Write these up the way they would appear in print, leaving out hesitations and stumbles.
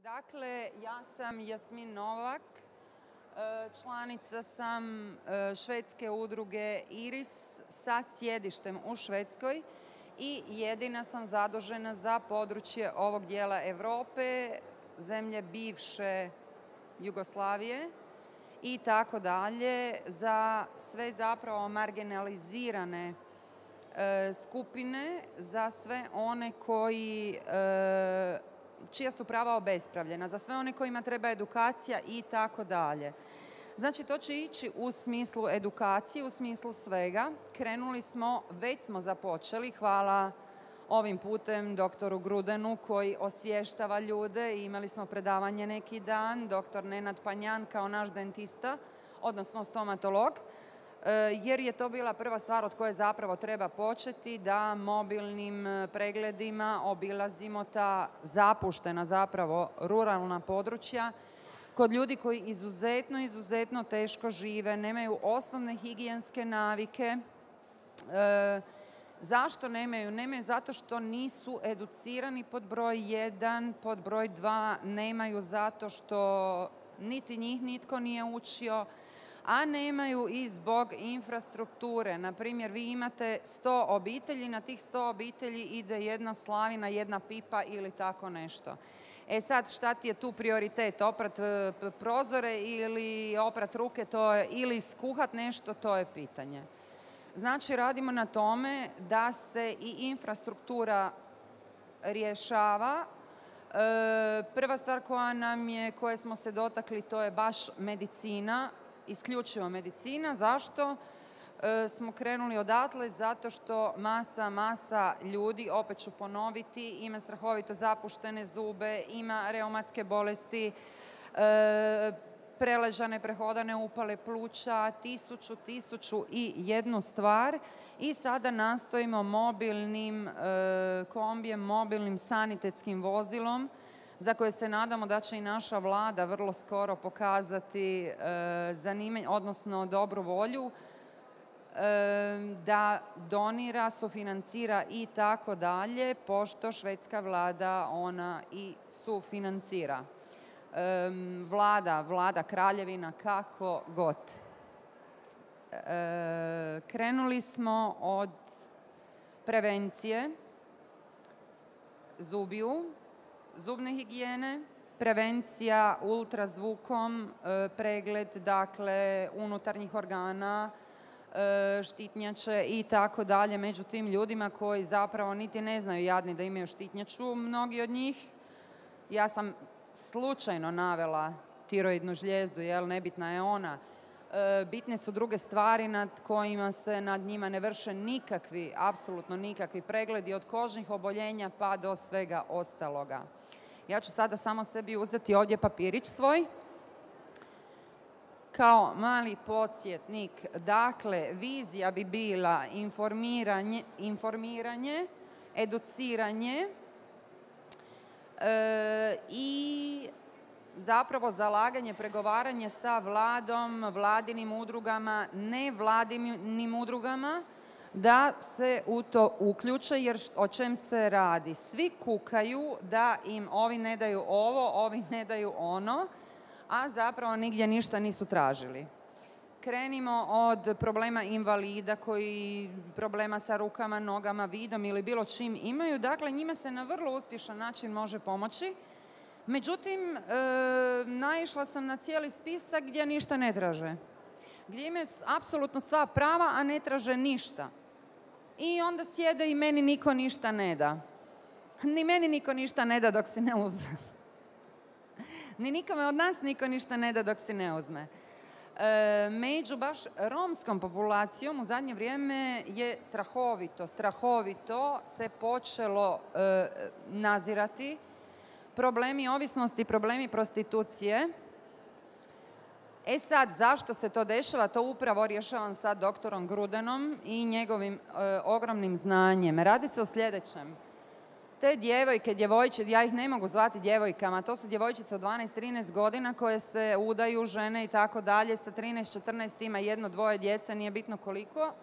Dakle, ja sam Jasmin Novak, članica sam švedske udruge IRIS sa sjedištem u Švedskoj i jedina sam zadužena za područje ovog dijela Europe, zemlje bivše Jugoslavije i tako dalje, za sve zapravo marginalizirane skupine, za sve one čija su prava obespravljena, za sve one kojima treba edukacija i tako dalje. Znači, to će ići u smislu edukacije, u smislu svega. Krenuli smo, već smo započeli, hvala ovim putem doktoru Grudenu koji osvještava ljude. Imali smo predavanje neki dan, doktor Nenad Panjan kao naš dentista, odnosno stomatolog, jer je to bila prva stvar od koje zapravo treba početi, da mobilnim pregledima obilazimo ta zapuštena zapravo ruralna područja kod ljudi koji izuzetno teško žive, nemaju osnovne higijenske navike. Zašto nemaju? Nemaju zato što nisu educirani pod broj 1, pod broj 2, nemaju zato što niti njih nitko nije učio, a nemaju i zbog infrastrukture. Naprimjer, vi imate 100 obitelji, na tih 100 obitelji ide jedna slavina, jedna pipa ili tako nešto. E sad, šta ti je tu prioritet? Oprat prozore ili oprat ruke, ili skuhat nešto, to je pitanje. Znači, radimo na tome da se i infrastruktura rješava. Prva stvar koje smo se dotakli, to je baš medicina, isključivo medicina. Zašto smo krenuli odatle? Zato što masa ljudi, opet ću ponoviti, ima strahovito zapuštene zube, ima reumatske bolesti, preležane, prehodane upale pluća, tisuću i jednu stvar. I sada nastojimo mobilnim kombijem, mobilnim sanitetskim vozilom, za koje se nadamo da će i naša vlada vrlo skoro pokazati zanimanje, odnosno dobru volju, da donira, sufinancira i tako dalje, pošto švedska vlada ona i sufinancira. Vlada, kraljevina, kako god. Krenuli smo od prevencije zubne higijene, prevencija ultrazvukom, pregled, dakle, unutarnjih organa, štitnjače i tako dalje, među tim ljudima koji zapravo niti ne znaju jadni da imaju štitnjaču, mnogi od njih. Ja sam slučajno navela tiroidnu žlijezdu, nebitna je ona. Bitne su druge stvari nad kojima se nad njima ne vrše nikakvi, apsolutno nikakvi pregledi, od kožnih oboljenja pa do svega ostaloga. Ja ću sada samo sebi uzeti ovdje papirić svoj. Kao mali podsjetnik, dakle, vizija bi bila informiranje, educiranje i zapravo zalaganje, pregovaranje sa vladom, vladinim udrugama, nevladinim udrugama, da se u to uključe, jer o čem se radi? Svi kukaju da im ovi ne daju ovo, ovi ne daju ono, a zapravo nigdje ništa nisu tražili. Krenimo od problema invalida koji problema sa rukama, nogama, vidom ili bilo čim imaju. Dakle, njima se na vrlo uspješan način može pomoći. Međutim, naišla sam na cijeli spisak gdje ništa ne traže. Gdje imaju apsolutno sva prava, a ne traže ništa. I onda sjede i meni niko ništa ne da. Ni meni niko ništa ne da dok si ne uzme. Ni nikome od nas niko ništa ne da dok si ne uzme. Među baš romskom populacijom u zadnje vrijeme je strahovito se počelo nazirati problemi ovisnosti, problemi prostitucije. E sad, zašto se to dešava? To upravo rješavam sa doktorom Grudenom i njegovim ogromnim znanjem. Radi se o sljedećem. Te djevojčice, ja ih ne mogu zvati djevojkama, to su djevojčice od 12-13 godina koje se udaju, žene i tako dalje, sa 13-14 ima 1-2 djece, nije bitno koliko.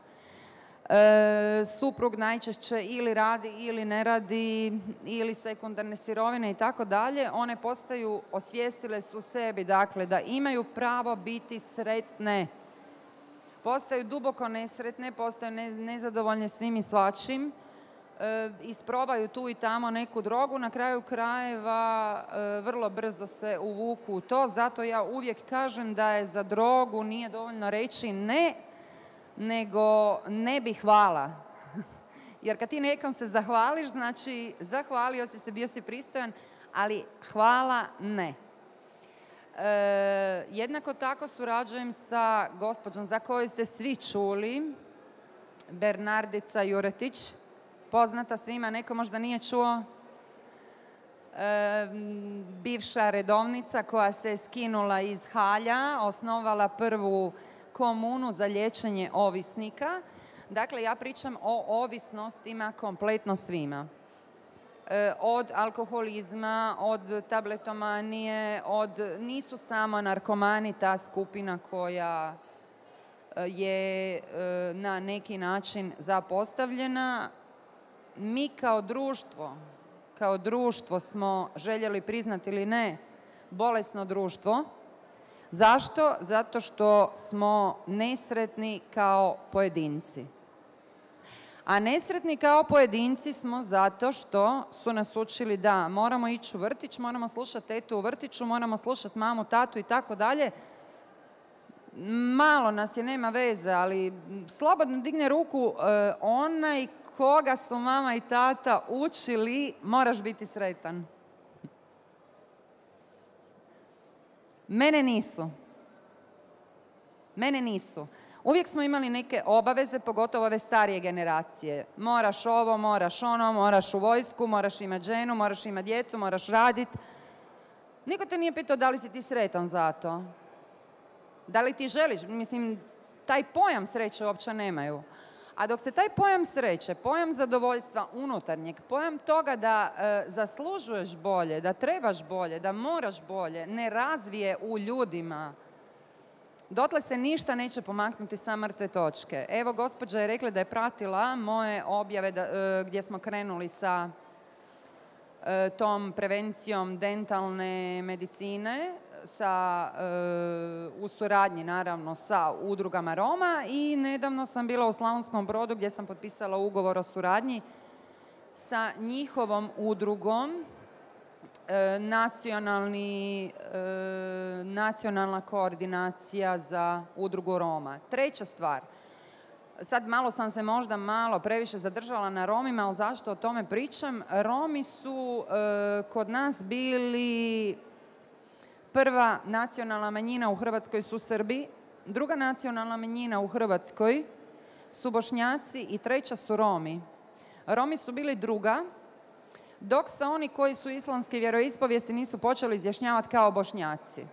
Suprug najčešće ili radi ili ne radi, ili sekundarne sirovine i tako dalje. One postaju, osvijestile su sebi, dakle, da imaju pravo biti sretne. Postaju duboko nesretne, postaju nezadovoljne svim i svačim. Isprobaju tu i tamo neku drogu, na kraju krajeva vrlo brzo se uvuku u to. Zato ja uvijek kažem da je za drogu nije dovoljno reći ne, nego ne bi hvala. Jer kad ti nekom se zahvališ, znači zahvalio si se, bio si pristojan, ali hvala ne. Jednako tako surađujem sa gospođom za koju ste svi čuli, Bernardica Juretić, poznata svima, neko možda nije čuo, bivša redovnica koja se skinula iz halja, osnovala prvu komunu za liječenje ovisnika. Dakle, ja pričam o ovisnostima kompletno svima. Od alkoholizma, od tabletomanije, nisu samo narkomani ta skupina koja je na neki način zapostavljena. Mi kao društvo smo, željeli priznati ili ne, bolesno društvo. Zašto? Zato što smo nesretni kao pojedinci. A nesretni kao pojedinci smo zato što su nas učili da moramo ići u vrtić, moramo slušati tetu u vrtiću, moramo slušati mamu, tatu i tako dalje. Malo nas je, nema veze, ali slobodno digne ruku onaj koga su mama i tata učili, moraš biti sretan. Mene nisu. Uvijek smo imali neke obaveze, pogotovo ove starije generacije. Moraš ovo, moraš ono, moraš u vojsku, moraš imati ženu, moraš imati djecu, moraš raditi. Niko te nije pitao da li si ti sretan za to. Da li ti želiš? Mislim, taj pojam sreće uopće nemaju. A dok se taj pojam sreće, pojam zadovoljstva unutarnjeg, pojam toga da zaslužuješ bolje, da trebaš bolje, da moraš bolje, ne razvije u ljudima, dotle se ništa neće pomaknuti sa mrtve točke. Evo, gospođa je rekla da je pratila moje objave gdje smo krenuli sa tom prevencijom dentalne medicine, u suradnji naravno sa udrugama Roma, i nedavno sam bila u Slavonskom Brodu gdje sam potpisala ugovor o suradnji sa njihovom udrugom, nacionalna koordinacija za udrugu Roma. Treća stvar, sad malo sam se možda previše zadržala na Romima, ali zašto o tome pričam? Romi su kod nas bili prva nacionalna manjina u Hrvatskoj su Srbi, druga nacionalna manjina u Hrvatskoj su Bošnjaci i treća su Romi. Romi su bili druga, dok se oni koji su islamske vjeroispovijesti nisu počeli izjašnjavati kao Bošnjaci.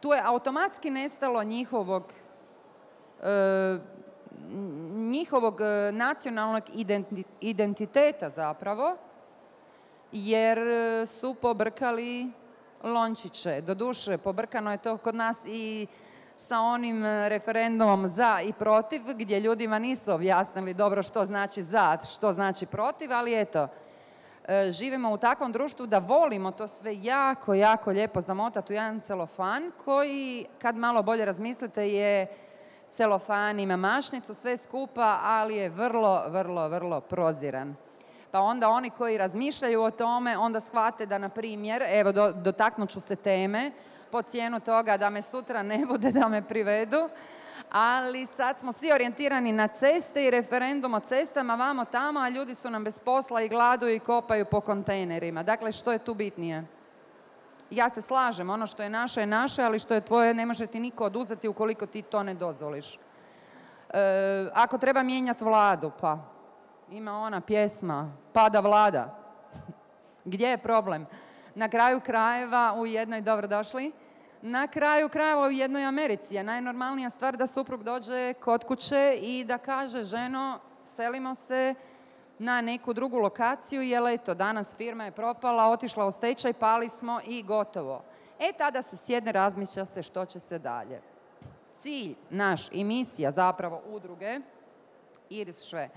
Tu je automatski nestalo njihovog nacionalnog identiteta zapravo, jer su pobrkali lončiće. Doduše, pobrkano je to kod nas i sa onim referendumom za i protiv, gdje ljudima nisu objasnili dobro što znači za, što znači protiv, ali eto, živimo u takvom društvu da volimo to sve jako, jako lijepo zamotati u jedan celofan koji, kad malo bolje razmislite, je celofan, ima mašnicu, sve skupa, ali je vrlo, vrlo, vrlo proziran. Pa onda oni koji razmišljaju o tome, onda shvate da, na primjer, evo, dotaknut ću se teme, po cijenu toga da me sutra ne bude da me privedu, ali sad smo svi orijentirani na ceste i referendum o cestama vamo tamo, a ljudi su nam bez posla i gladuju i kopaju po kontejnerima. Dakle, što je tu bitnije? Ja se slažem, ono što je naše, ali što je tvoje ne može ti niko oduzeti ukoliko ti to ne dozvoliš. Ako treba mijenjati vladu, pa ima ona pjesma, pada vlada. Gdje je problem? Na kraju krajeva u jednoj, dobrodošli, na kraju krajeva u jednoj Americi je najnormalnija stvar da suprug dođe kod kuće i da kaže: ženo, selimo se na neku drugu lokaciju, jer eto, danas firma je propala, otišla u stečaj, pali smo i gotovo. Tada se sjedne, razmišlja se što će se dalje. Cilj naš i misija zapravo udruge Iris Šve,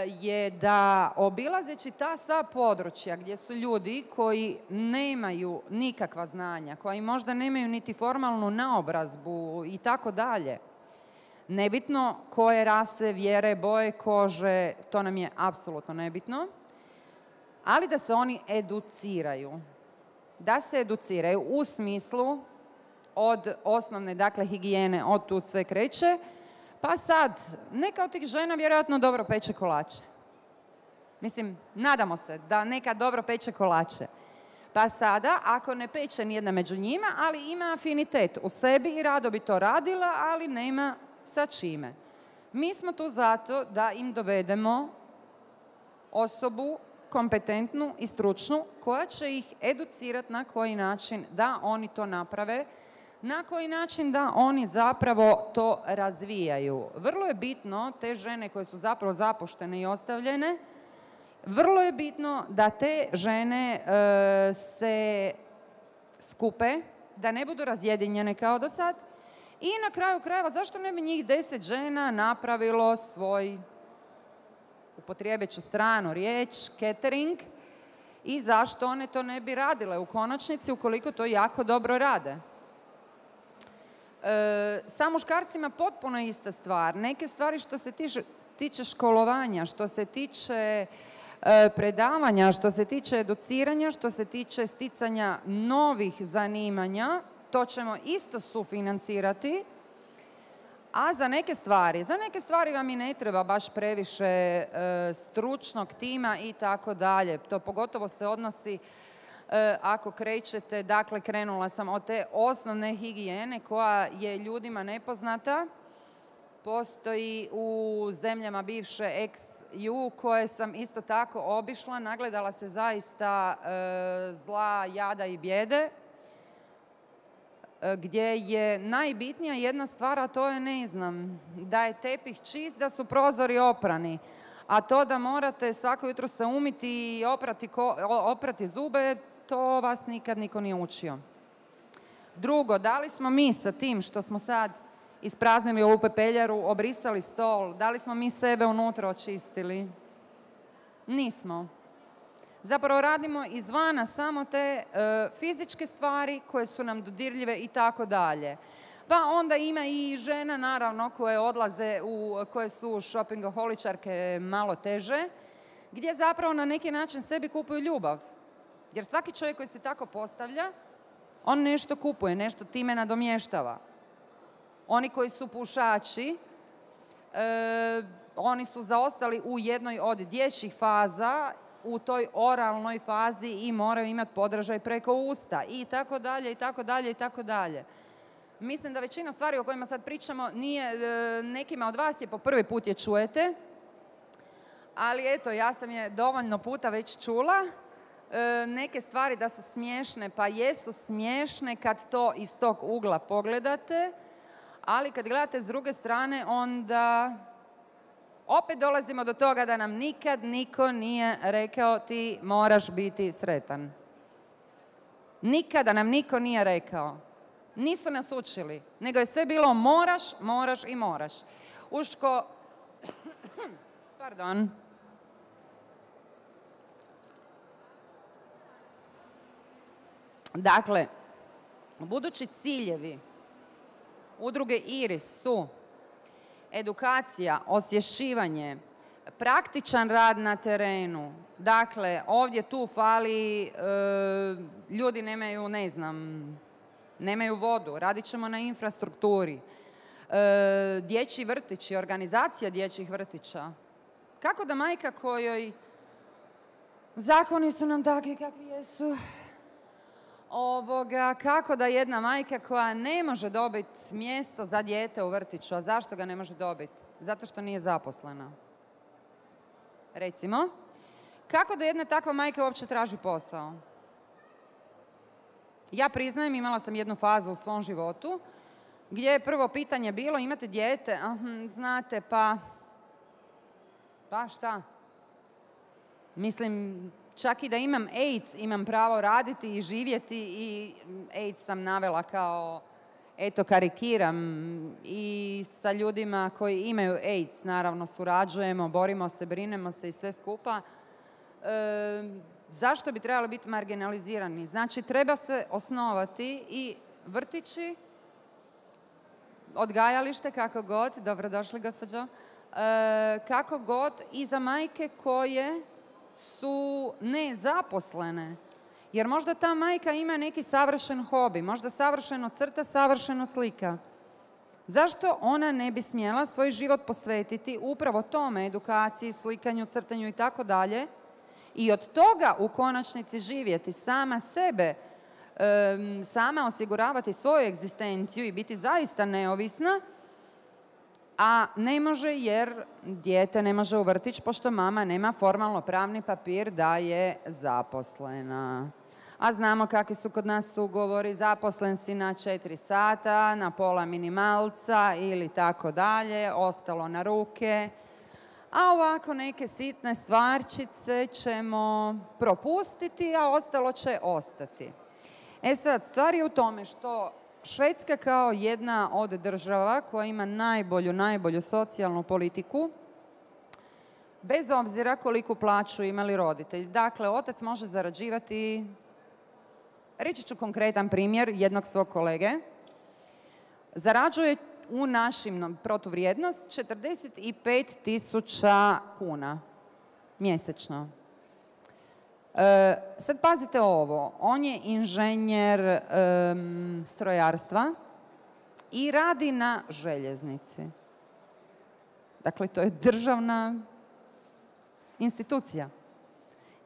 je da obilazeći ta sva područja gdje su ljudi koji nemaju nikakva znanja, koji možda nemaju niti formalnu naobrazbu i tako dalje, nebitno koje rase, vjere, boje kože, to nam je apsolutno nebitno, ali da se oni educiraju. Da se educiraju u smislu od osnovne, dakle, higijene, od tu sve kreće, pa sad, neka od tih žena vjerojatno dobro peče kolače. Mislim, nadamo se da neka dobro peče kolače. Pa sada, ako ne peče nijedna među njima, ali ima afinitet u sebi i rado bi to radila, ali nema sa čime. Mi smo tu zato da im dovedemo osobu kompetentnu i stručnu koja će ih educirati na koji način da oni to naprave, na koji način da oni zapravo to razvijaju. Vrlo je bitno, te žene koje su zapravo zapuštene i ostavljene, vrlo je bitno da te žene se skupe, da ne budu razjedinjene kao do sad i na kraju krajeva zašto ne bi njih 10 žena napravilo svoj, upotrijebit ću stranu riječ, catering, i zašto one to ne bi radile u konačnici ukoliko to jako dobro rade. Sa muškarcima potpuno ista stvar. Neke stvari što se tiče školovanja, što se tiče predavanja, što se tiče educiranja, što se tiče sticanja novih zanimanja, to ćemo isto sufinancirati. A za neke stvari vam i ne treba baš previše stručnog tima i tako dalje. To pogotovo se odnosi ako krećete, dakle krenula sam od te osnovne higijene koja je ljudima nepoznata. Postoji u zemljama bivše ex-ju koje sam isto tako obišla, nagledala se zaista zla, jada i bijede, gdje je najbitnija jedna stvar, a to je, ne znam, da je tepih čist, da su prozori oprani, a to da morate svako jutro se umiti i oprati zube, to vas nikad niko nije učio. Drugo, da li smo mi sa tim što smo sad ispraznili ovu pepeljaru, obrisali stol, da li smo mi sebe unutra očistili? Nismo. Zapravo radimo izvana samo te fizičke stvari koje su nam dodirljive i tako dalje. Pa onda ima i žena, naravno, koje odlaze, koje su šopingoholičarke malo teže, gdje zapravo na neki način sebi kupuju ljubav. Jer svaki čovjek koji se tako postavlja, on nešto kupuje, nešto time nadomještava. Oni koji su pušači, oni su zaostali u jednoj od dječjih faza, u toj oralnoj fazi i moraju imati podražaj preko usta i tako dalje, i tako dalje, i tako dalje. Mislim da većina stvari o kojima sad pričamo nekima od vas je po prvi put je čujete, ali eto, ja sam je dovoljno puta već čula. Neke stvari da su smiješne, pa jesu smiješne kad to iz tog ugla pogledate, ali kad gledate s druge strane, onda opet dolazimo do toga da nam nikad niko nije rekao ti moraš biti sretan. Nikada nam niko nije rekao. Nisu nas učili, nego je sve bilo moraš, moraš i moraš. Pardon. Dakle, budući ciljevi udruge Iris su edukacija, osvješćivanje, praktičan rad na terenu. Dakle, ovdje tu fali, ljudi nemaju, ne znam, nemaju vodu, radit ćemo na infrastrukturi. Dječji vrtići, organizacija dječjih vrtića. Kako da majka kojoj zakoni su nam takvi kakvi jesu, kako da jedna majka koja ne može dobiti mjesto za dijete u vrtiću, a zašto ga ne može dobiti? Zato što nije zaposlena. Recimo, kako da jedna takva majka uopće traži posao? Ja priznajem, imala sam jednu fazu u svom životu gdje je prvo pitanje bilo imate dijete? Znate, pa šta? Mislim, čak i da imam AIDS, imam pravo raditi i živjeti i AIDS sam navela kao eto karikiram, i sa ljudima koji imaju AIDS, naravno surađujemo, borimo se, brinemo se i sve skupa. Zašto bi trebali biti marginalizirani? Znači, treba se osnovati i vrtići, odgajalište, kako god, dobrodošli gospođo, kako god, i za majke koje su nezaposlene. Jer možda ta majka ima neki savršen hobi, možda savršeno crta, savršeno slika. Zašto ona ne bi smjela svoj život posvetiti upravo tome, edukaciji, slikanju, crtanju i tako dalje, i od toga u konačnici živjeti sama sebe, sama osiguravati svoju egzistenciju i biti zaista neovisna, a ne može jer dijete ne može u vrtić pošto mama nema formalno pravni papir da je zaposlena. A znamo kakvi su kod nas ugovori, zaposlen si na 4 sata, na pola minimalca ili tako dalje, ostalo na ruke. A ovako neke sitne stvarčice ćemo propustiti, a ostalo će ostati. Sad, stvar je u tome što Švedska kao jedna od država koja ima najbolju socijalnu politiku, bez obzira koliku plaću imali roditelji. Dakle, otac može zarađivati, reći ću konkretan primjer jednog svog kolege, zarađuje u našim protuvrijednost 45.000 kuna mjesečno. Sad pazite ovo, on je inženjer strojarstva i radi na željeznici. Dakle, to je državna institucija.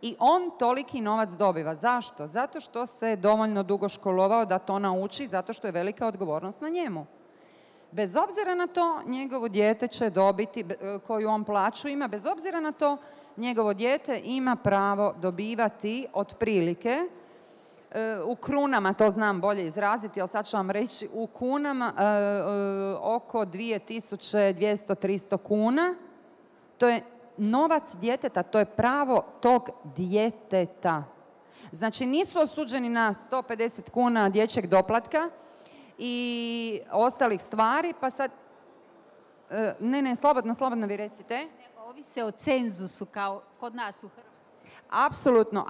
I on toliki novac dobiva. Zašto? Zato što se dovoljno dugo školovao da to nauči, zato što je velika odgovornost na njemu. Bez obzira na to, njegovo dijete će dobiti, koju on plaću ima, bez obzira na to, njegovo dijete ima pravo dobivati otprilike, u krunama to znam bolje izraziti, ali sad ću vam reći, u kunama oko 2200-300 kuna. To je novac djeteta, to je pravo tog djeteta. Znači, nisu osuđeni na 150 kuna dječjeg doplatka i ostalih stvari, pa sad... Ne, slobodno vi recite. Ovise o cenzusu kao kod nas u Hrvatskoj.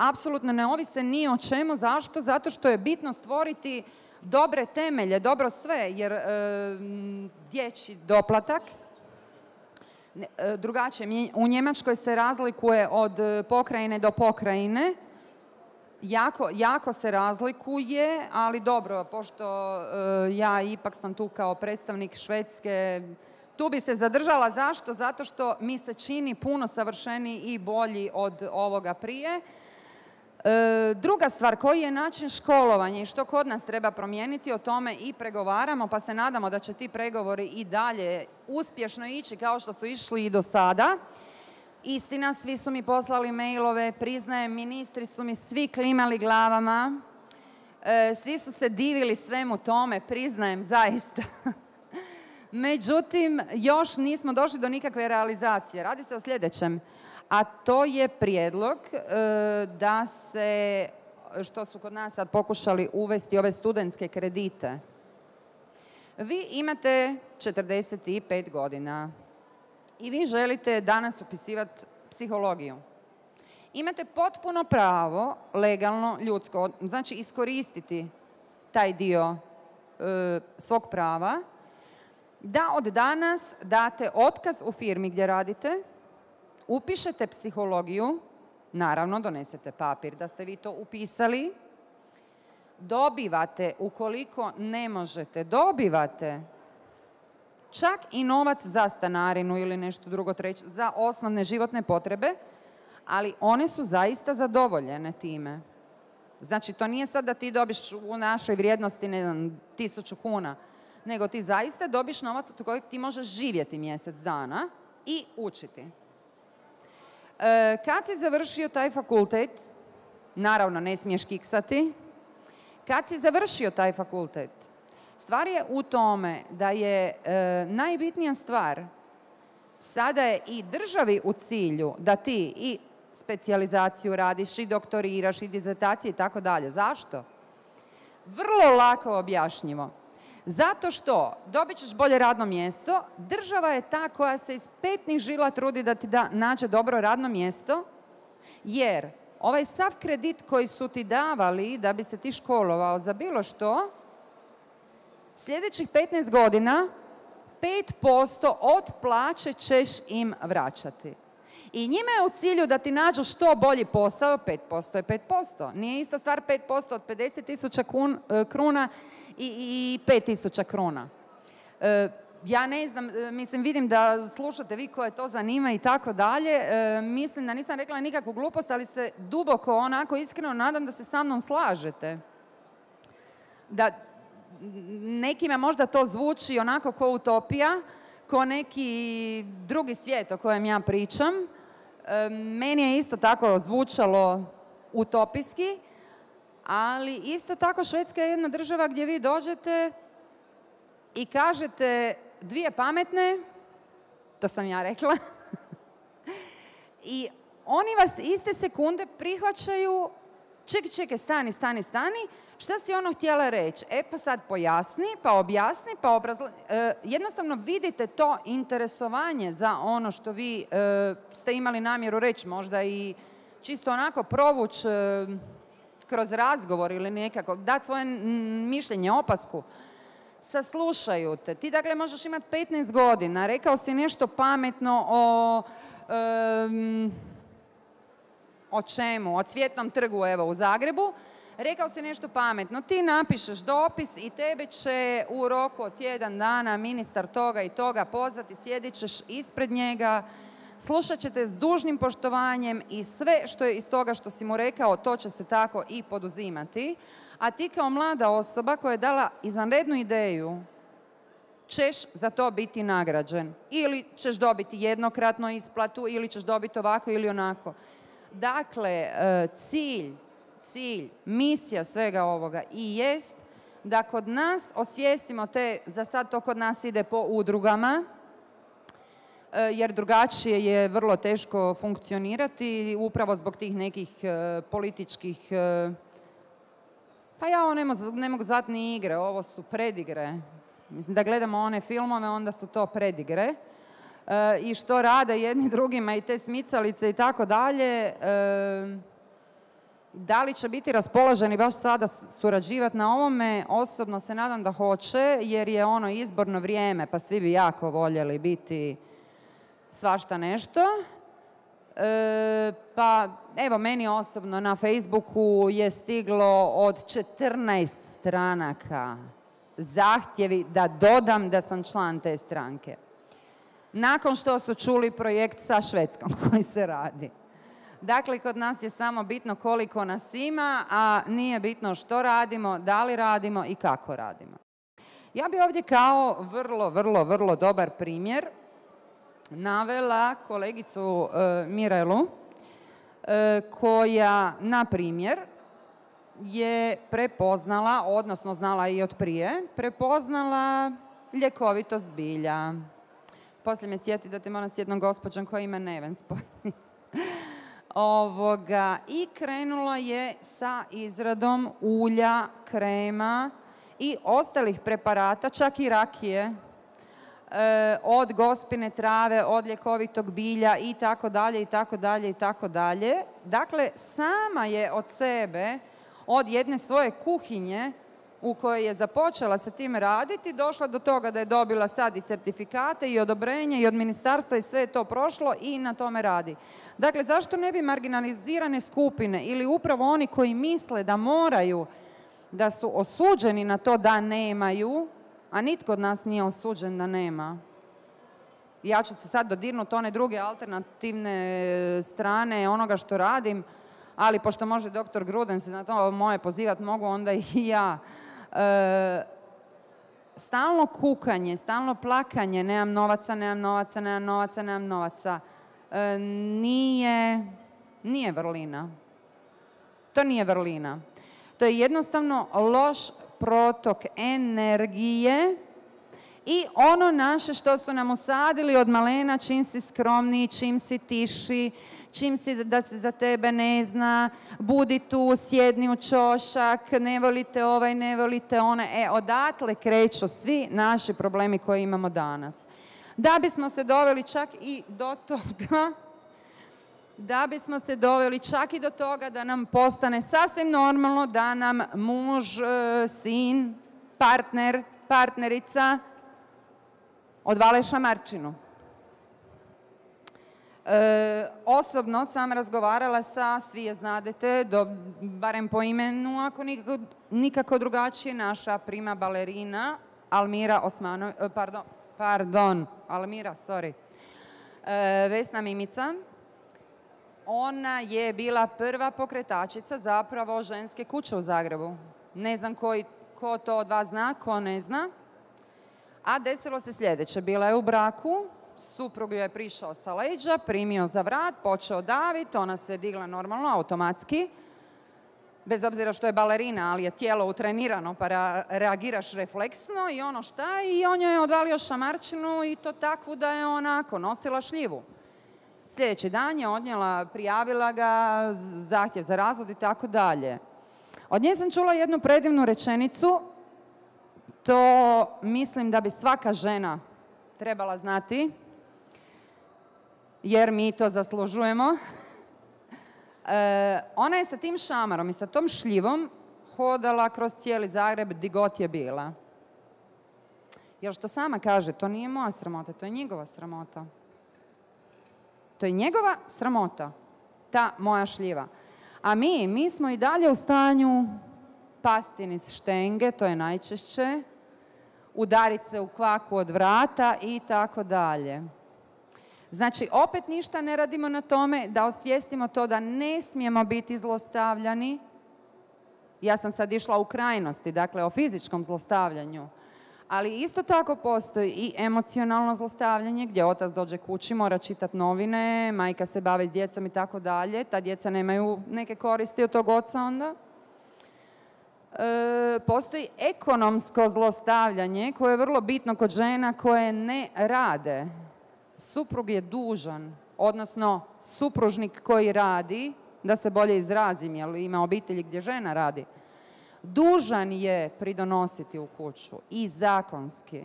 Apsolutno ne ovise ni o čemu. Zašto? Zato što je bitno stvoriti dobre temelje, dobro sve, jer dječji doplatak drugačije. U Njemačkoj se razlikuje od pokrajine do pokrajine. Jako se razlikuje, ali dobro, pošto ja ipak sam tu kao predstavnik Švedske, tu bi se zadržala. Zašto? Zato što mi se čini puno savršeniji i bolji od ovoga prije. Druga stvar, koji je način školovanja i što kod nas treba promijeniti, o tome i pregovaramo, pa se nadamo da će ti pregovori i dalje uspješno ići kao što su išli i do sada. Istina, svi su mi poslali mailove, priznajem, ministri su mi svi klimali glavama, svi su se divili svemu tome, priznajem zaista. Međutim, još nismo došli do nikakve realizacije. Radi se o sljedećem, a to je prijedlog da se, što su kod nas sad pokušali uvesti, ove studentske kredite. Vi imate 45 godina i vi želite danas upisivati psihologiju. Imate potpuno pravo, legalno, ljudsko, znači iskoristiti taj dio svog prava, da od danas date otkaz u firmi gdje radite, upišete psihologiju, naravno donesete papir da ste vi to upisali, dobivate, ukoliko ne možete, dobivate čak i novac za stanarinu ili nešto drugo treće, za osnovne životne potrebe, ali one su zaista zadovoljene time. Znači, to nije sad da ti dobiš u našoj vrijednosti, ne znam, 1000 kuna, nego ti zaista dobiš novac od kojeg ti možeš živjeti mjesec dana i učiti. Kad si završio taj fakultet, naravno ne smiješ kiksati, kad si završio taj fakultet, stvar je u tome da je najbitnija stvar, sada je i državi u cilju da ti i specijalizaciju radiš, i doktoriraš, i dizertacije i tako dalje. Zašto? Vrlo lako objašnjivo. Zato što dobit ćeš bolje radno mjesto, država je ta koja se iz petnih žila trudi da ti nađe dobro radno mjesto, jer ovaj sav kredit koji su ti davali da bi se ti školovao za bilo što, sljedećih 15 godina 5% od plaće ćeš im vraćati. I njima je u cilju da ti nađu što bolji posao, 5% je 5%. Nije ista stvar 5% od 50.000 kruna i 5.000 kruna. Ja ne znam, mislim, vidim da slušate vi koje to zanima i tako dalje. Mislim da nisam rekla nikakvu glupost, ali se duboko, onako iskreno nadam da se sa mnom slažete. Da nekima možda to zvuči onako ko utopija, ko neki drugi svijet o kojem ja pričam. Meni je isto tako zvučalo utopijski, ali isto tako Švedska je jedna država gdje vi dođete i kažete dvije pametne, to sam ja rekla, i oni vas iste sekunde prihvaćaju, čekaj, stani, šta si ono htjela reći? Pa sad pojasni, pa objasni, pa jednostavno vidite to interesovanje za ono što vi ste imali namjeru reći, možda i čisto onako provući kroz razgovor ili nekako, dati svoje mišljenje, opasku. Saslušaju te. Ti dakle možeš imati 15 godina, rekao si nešto pametno o čemu? O Cvjetnom trgu, evo, u Zagrebu. Rekao si nešto pametno. Ti napišeš dopis i tebe će u roku od tjedan dana ministar toga i toga pozvati, sjedit ćeš ispred njega, slušat ćete s dužnim poštovanjem i sve što je iz toga što si mu rekao, to će se tako i poduzimati. A ti kao mlada osoba koja je dala izvanrednu ideju, ćeš za to biti nagrađen. Ili ćeš dobiti jednokratnu isplatu, ili ćeš dobiti ovako ili onako. Dakle, cilj, misija svega ovoga i jest da kod nas osvijestimo za sad to kod nas ide po udrugama, jer drugačije je vrlo teško funkcionirati upravo zbog tih nekih političkih, pa ja ovo ne mogu zvati ni igre, ovo su predigre. Mislim da gledamo one filmove, onda su to predigre. I što rade jedni drugima i te smicalice i tako dalje. Da li će biti raspoloženi baš sada surađivati na ovome? Osobno se nadam da hoće, jer je ono izborno vrijeme, pa svi bi jako voljeli biti svašta nešto. Pa evo, meni osobno na Facebooku je stiglo od 14 stranaka zahtjevi da dodam da sam član te stranke. Nakon što su čuli projekt sa Švedskom koji se radi. Dakle, kod nas je samo bitno koliko nas ima, a nije bitno što radimo, da li radimo i kako radimo. Ja bi ovdje kao vrlo dobar primjer navela kolegicu Mirelu, koja, na primjer, je prepoznala, odnosno znala i od prije, prepoznala ljekovitost bilja. Poslije me sjeti da te moram s jednom gospođom koja ima Neven spojeni. I krenula je sa izradom ulja, krema i ostalih preparata, čak i rakije, od gospine trave, od ljekovitog bilja i tako dalje, i tako dalje, i tako dalje. Dakle, sama je od sebe, od jedne svoje kuhinje u kojoj je započela sa tim raditi, došla do toga da je dobila sad i certifikate i odobrenje i od ministarstva i sve je to prošlo i na tome radi. Dakle, zašto ne bi marginalizirane skupine ili upravo oni koji misle da moraju, da su osuđeni na to da nemaju, a nitko od nas nije osuđen da nema. Ja ću se sad dodirnuti one druge alternativne strane onoga što radim, ali pošto može doktor Gruden se na to moje pozivati, mogu onda i ja. Stalno kukanje, stalno plakanje, nemam novaca, nije vrlina. To nije vrlina. To je jednostavno loš protok energije i ono naše što su nam usadili od malena, čim si skromniji, čim si tiši, čim si da se za tebe ne zna, budi tu, sjedni u ćošak, ne volite ovaj, ne volite onaj. Odatle kreću svi naši problemi koje imamo danas. Da bismo se doveli čak i do toga, da nam postane sasvim normalno da nam muž, sin, partner, partnerica odvale šamarčinu. Osobno sam razgovarala sa, svi je znadete, barem po imenu, ako nikako drugačije, naša prima balerina Almira Osmanović, Vesna Mimica. Ona je bila prva pokretačica zapravo ženske kuće u Zagrebu. Ne znam ko to od vas zna, ko ne zna. A desilo se sljedeće. Bila je u braku, suprug joj je prišao sa leđa, primio za vrat, počeo daviti, ona se digla normalno, automatski. Bez obzira što je balerina, ali je tijelo utrenirano pa reagiraš refleksno i ono šta, i on joj je odvalio šamarčinu i to takvu da je onako nosila šljivu. Sljedeći dan je odnijela, prijavila ga, zahtjev za razvod i tako dalje. Od nje sam čula jednu predivnu rečenicu, to mislim da bi svaka žena trebala znati, jer mi to zaslužujemo. Ona je sa tim šamarom i sa tom šljivom hodala kroz cijeli Zagreb di god je bila. Jer što sama kaže, to nije moja sramota, to je njegova sramota. To je njegova sramota, ta moja šljiva. A mi smo i dalje u stanju pasti niz štenge, to je najčešće, udariti se u kvaku od vrata i tako dalje. Znači, opet ništa ne radimo na tome da osvijestimo to da ne smijemo biti zlostavljani. Ja sam sad išla u krajnosti, dakle o fizičkom zlostavljanju. Ali isto tako postoji i emocionalno zlostavljanje gdje otac dođe kući, mora čitati novine, majka se bavi s djecom i tako dalje. Ta djeca nemaju neke koristi od tog oca onda. Postoji ekonomsko zlostavljanje koje je vrlo bitno kod žena koje ne rade. Suprug je dužan, odnosno supružnik koji radi, da se bolje izrazim, jer ima obitelji gdje žena radi, dužan je pridonositi u kuću i zakonski.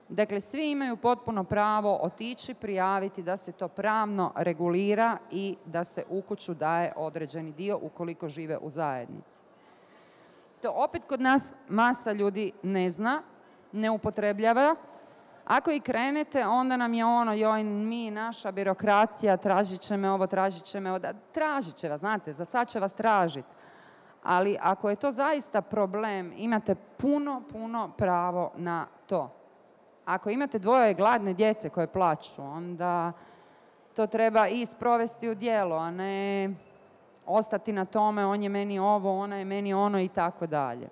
Dakle, svi imaju potpuno pravo otići, prijaviti da se to pravno regulira i da se u kuću daje određeni dio ukoliko žive u zajednici. To opet kod nas masa ljudi ne zna, ne upotrebljava. Ako i krenete, onda nam je ono, joj, mi, naša birokracija, tražit će me ovo, tražit će me ovo. Tražit će vas, znate, za sad će vas tražiti. Ali ako je to zaista problem, imate puno pravo na to. Ako imate dvoje gladne djece koje plaču, onda to treba i sprovesti u djelo, a ne ostati na tome, on je meni ovo, ona je meni ono i tako dalje.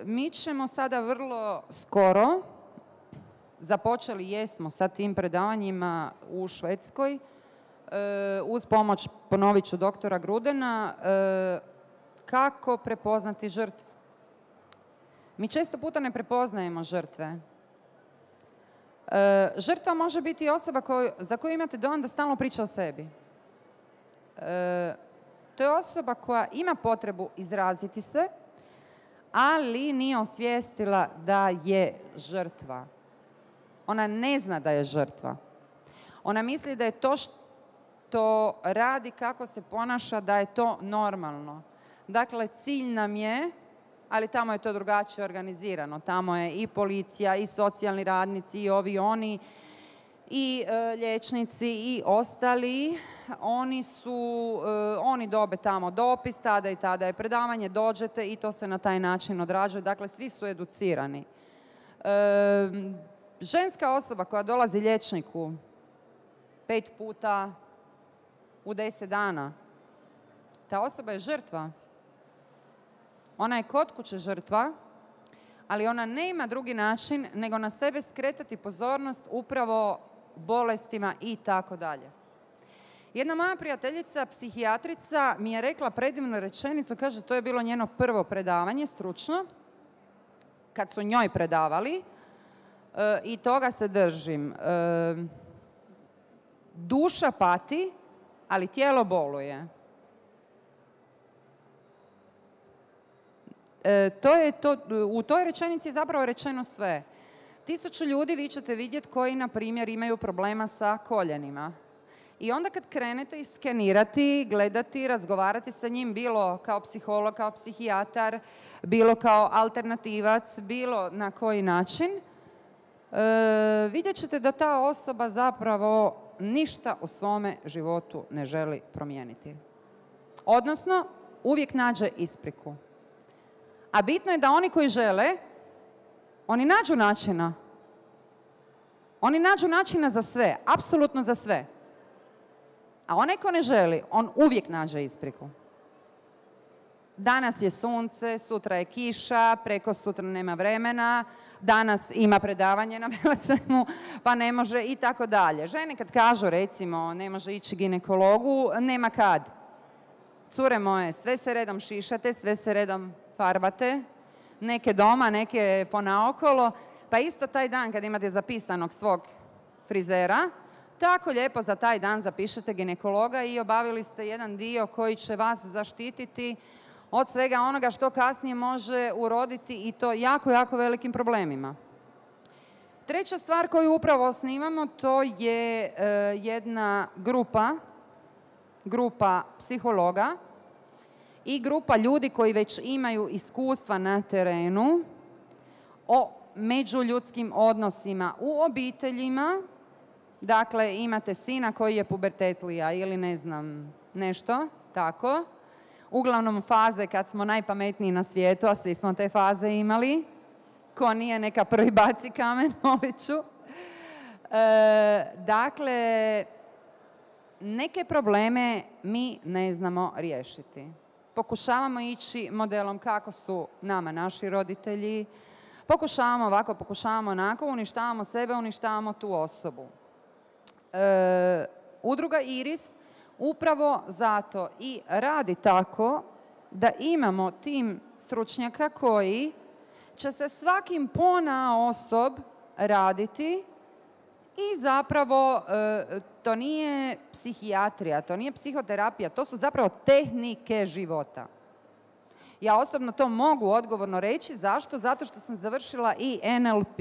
Mi ćemo sada vrlo skoro, započeli jesmo sa tim predavanjima u Švedskoj, uz pomoć, ponovit ću, doktora Grudena, kako prepoznati žrtvu. Mi često puta ne prepoznajemo žrtve. Žrtva može biti osoba za koju imate dojam da stalno priča o sebi. To je osoba koja ima potrebu izraziti se, ali nije osvijestila da je žrtva. Ona ne zna da je žrtva. Ona misli da je to što radi, kako se ponaša, da je to normalno. Dakle, cilj nam je, ali tamo je to drugačije organizirano. Tamo je i policija, i socijalni radnici, i ovi, oni, i liječnici, i ostali. Oni dobe tamo dopis, tada i tada je predavanje, dođete i to se na taj način odrađuje. Dakle, svi su educirani. Ženska osoba koja dolazi liječniku 5 puta u 10 dana, ta osoba je žrtva. Ona je kod kuće žrtva, ali ona nema drugi način nego na sebe skretati pozornost upravo bolestima i tako dalje. Jedna moja prijateljica, psihijatrica, mi je rekla predivnu rečenicu, kaže, to je bilo njeno prvo predavanje, stručno. kad su njoj predavali i toga se držim. Duša pati, ali tijelo boluje. U toj rečenici je zapravo rečeno sve. 1000 ljudi vi ćete vidjeti koji, na primjer, imaju problema sa koljenima. I onda kad krenete iskenirati, gledati, razgovarati sa njim, bilo kao psiholog, kao psihijatar, bilo kao alternativac, bilo na koji način, vidjet ćete da ta osoba zapravo ništa u svome životu ne želi promijeniti. Odnosno, uvijek nađe ispriku. A bitno je da oni koji žele, oni nađu načina. Oni nađu načina za sve, apsolutno za sve. A onaj ko ne želi, on uvijek nađe ispriku. Danas je sunce, sutra je kiša, preko sutra nema vremena, danas ima predavanje na Velesajmu, pa ne može i tako dalje. Žene kad kažu, recimo, ne može ići ginekologu, nema kad. Cure moje, sve se redom šišate, sve se redom farbate, neke doma, neke ponaokolo, pa isto taj dan kad imate zapisanog svog frizera, tako lijepo za taj dan zapišete ginekologa i obavili ste jedan dio koji će vas zaštititi od svega onoga što kasnije može uroditi i to jako, jako velikim problemima. Treća stvar koju upravo osnivamo, to je jedna grupa psihologa i grupa ljudi koji već imaju iskustva na terenu o međuljudskim odnosima u obiteljima. Dakle, imate sina koji je pubertetlija ili ne znam nešto, tako. Uglavnom faze kad smo najpametniji na svijetu, a svi smo te faze imali. Ko nije, neka prvi baci kamen, molit ću. Dakle, neke probleme mi ne znamo riješiti. Pokušavamo ići modelom kako su nama naši roditelji. Pokušavamo ovako, pokušavamo onako, uništavamo sebe, uništavamo tu osobu. Udruga Iris upravo zato i radi tako da imamo tim stručnjaka koji će se svakim ponaosob raditi i zapravo to nije psihijatrija, to nije psihoterapija, to su zapravo tehnike života. Ja osobno to mogu odgovorno reći. Zašto? Zato što sam završila i NLP.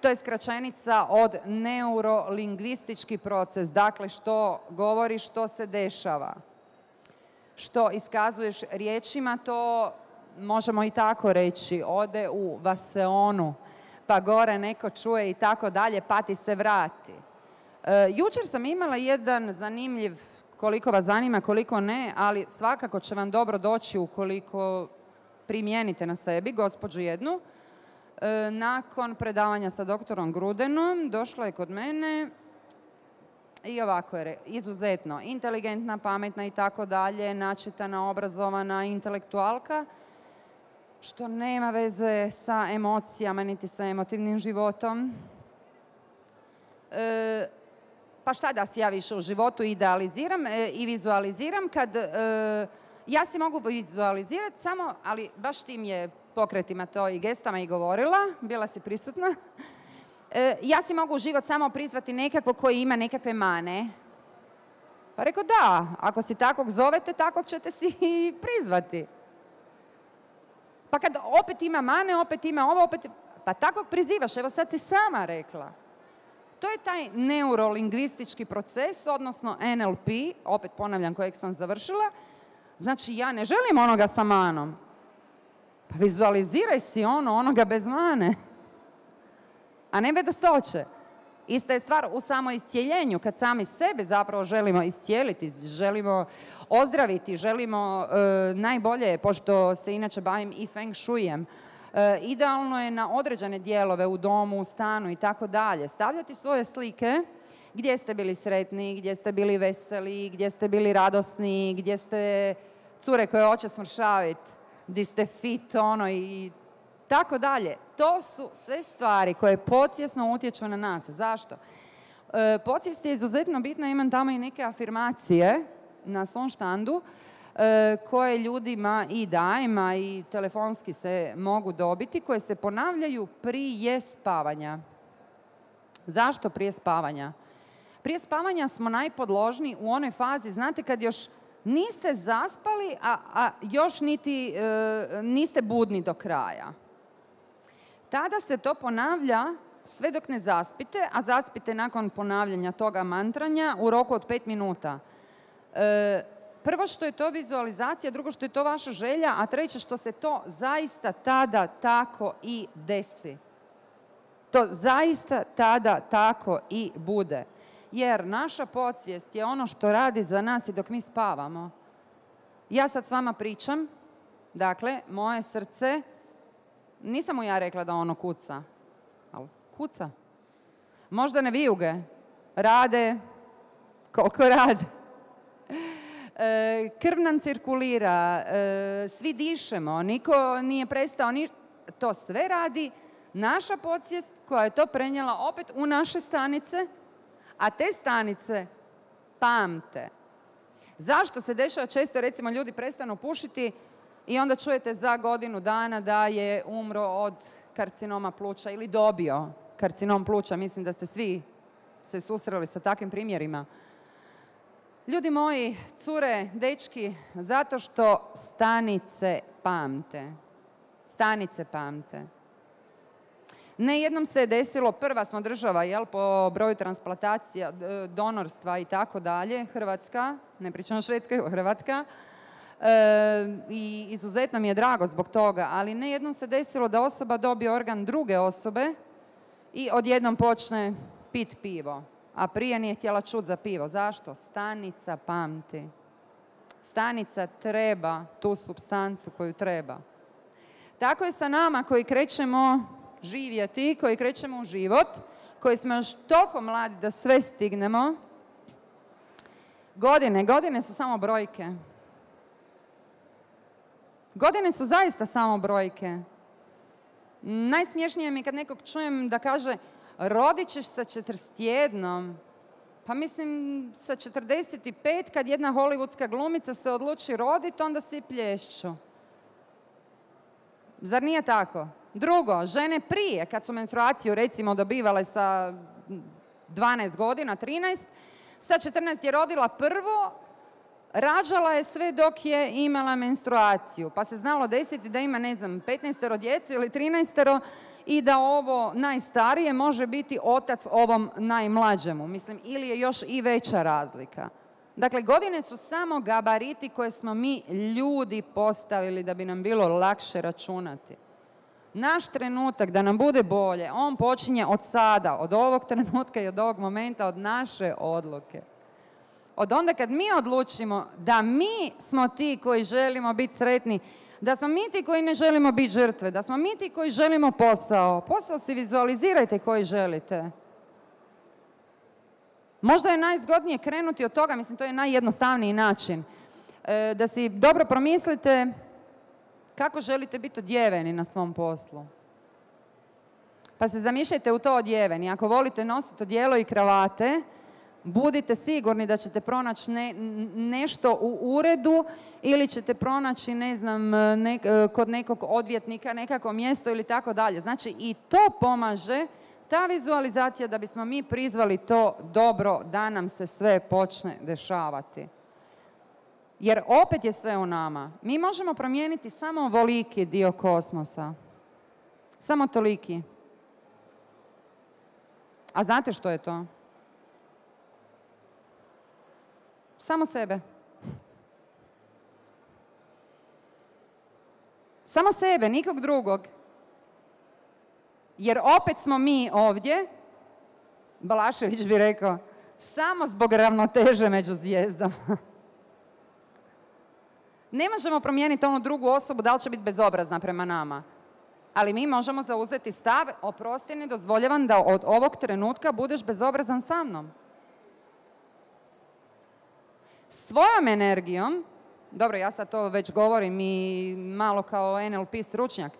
To je skraćenica od neurolingvistički proces. Dakle, što govoriš, što se dešava. Što iskazuješ riječima, to možemo i tako reći. Ode u vaseonu, pa gore neko čuje i tako dalje, pa ti se vrati. Jučer sam imala jedan zanimljiv, koliko vas zanima, koliko ne, ali svakako će vam dobro doći ukoliko primijenite na sebi, gospođu jednu. Nakon predavanja sa doktorom Grudenom došla je kod mene i ovako je izuzetno inteligentna, pametna i tako dalje, načitana, obrazovana, intelektualka, što nema veze sa emocijama niti sa emotivnim životom. Pa šta da si ja više u životu idealiziram i vizualiziram kad ja si mogu vizualizirati samo, ali baš tim je pokretima to i gestama i govorila, bila si prisutna. Ja si mogu u život samo prizvati nekako koji ima nekakve mane. Pa rekao da, ako si takvog zovete, takvog ćete si i prizvati. Pa kad opet ima mane, opet ima ovo, opet... Pa takvog prizivaš, evo sad si sama rekla. To je taj neurolingvistički proces, odnosno NLP, opet ponavljam kojeg sam završila. Znači, ja ne želim onoga sa manom. Pa vizualiziraj si onoga bez mane. A ne bedastoće. Ista je stvar u samoiscijeljenju, kad sami sebe zapravo želimo iscijeliti, želimo ozdraviti, želimo najbolje, pošto se inače bavim i feng shuijem, idealno je na određene dijelove u domu, u stanu i tako dalje stavljati svoje slike gdje ste bili sretni, gdje ste bili veseli, gdje ste bili radosni, gdje ste cure koje hoće smršaviti, gdje ste fit, i tako dalje. To su sve stvari koje podsvjesno utječu na nas. Zašto? Podsvijest je izuzetno bitna, imam tamo i neke afirmacije na svom štandu. koje ljudima i dajemo i telefonski se mogu dobiti, koje se ponavljaju prije spavanja. Zašto prije spavanja? Prije spavanja smo najpodložniji u onoj fazi, znate, kad još niste zaspali, a još niti niste budni do kraja. Tada se to ponavlja sve dok ne zaspite, a zaspite nakon ponavljanja toga mantranja u roku od 5 minuta. Prvo što je to vizualizacija, drugo što je to vaša želja, a treće što se to zaista tada tako i desi. To zaista tada tako i bude. Jer naša podsvijest je ono što radi za nas i dok mi spavamo. Ja sad s vama pričam, dakle, moje srce, nisam mu ja rekla da ono kuca, ali kuca. Možda ne vijuge, rade koliko rade. Krv nam cirkulira, svi dišemo, niko nije prestao, to sve radi naša podsvijest koja je to prenijela opet u naše stanice, a te stanice pamte. Zašto se dešava često, recimo, ljudi prestanu pušiti i onda čujete za godinu dana da je umro od karcinoma pluća ili dobio karcinom pluća. Mislim da ste svi se susreli sa takvim primjerima. Ljudi moji, cure, dečki, zato što stanice pamte. Stanice pamte. Ne jednom se je desilo, prva smo država, jel, po broju transplantacija, donorstva i tako dalje, Hrvatska, ne pričam o Švedskoj, Hrvatska, i izuzetno mi je drago zbog toga, ali ne jednom se desilo da osoba dobije organ druge osobe i odjednom počne pit pivo, a prije nije htjela čuti za pivo. Zašto? Stanica pamti. Stanica treba tu supstancu koju treba. Tako je sa nama koji krećemo živjeti, koji krećemo u život, koji smo još toliko mladi da sve stignemo. Godine su samo brojke. Godine su zaista samo brojke. Najsmješnije mi je kad nekog čujem da kaže rodit ćeš sa 41. Pa mislim sa 45 kad jedna hollywoodska glumica se odluči roditi, onda svi plješću. Zar nije tako? Drugo, žene prije, kad su menstruaciju recimo dobivale sa 12 godina, 13, sa 14 je rodila prvo, rađala je sve dok je imala menstruaciju. Pa se znalo desiti da ima, ne znam, 15 djece ili 13 i da ovo najstarije može biti otac ovom najmlađemu. Mislim, ili je još i veća razlika. Dakle, godine su samo gabariti koje smo mi ljudi postavili da bi nam bilo lakše računati. Naš trenutak da nam bude bolje, on počinje od sada, od ovog trenutka i od ovog momenta, od naše odluke. Od onda kad mi odlučimo da mi smo ti koji želimo biti sretni, da smo mi ti koji ne želimo biti žrtve, da smo mi ti koji želimo posao. Posao si vizualizirajte koji želite. Možda je najzgodnije krenuti od toga, mislim to je najjednostavniji način, da si dobro promislite kako želite biti odjeveni na svom poslu. Pa se zamišljajte u to odjeveni. Ako volite nositi odijelo i kravate, budite sigurni da ćete pronaći nešto u uredu ili ćete pronaći, ne znam, kod nekog odvjetnika nekako mjesto ili tako dalje. Znači i to pomaže, ta vizualizacija, da bismo mi prizvali to dobro da nam se sve počne dešavati. Jer opet je sve u nama. Mi možemo promijeniti samo ovoliki dio kosmosa. Samo toliki. A znate što je to? Samo sebe. Samo sebe, nikog drugog. Jer opet smo mi ovdje, Balašević bi rekao, samo zbog ravnoteže među zvijezdama. Ne možemo promijeniti onu drugu osobu da li će biti bezobrazna prema nama. Ali mi možemo zauzeti stav, oprosti, ne dozvoljavam da od ovog trenutka budeš bezobrazan sa mnom. Svojom energijom, dobro, ja sad to već govorim i malo kao NLP stručnjak,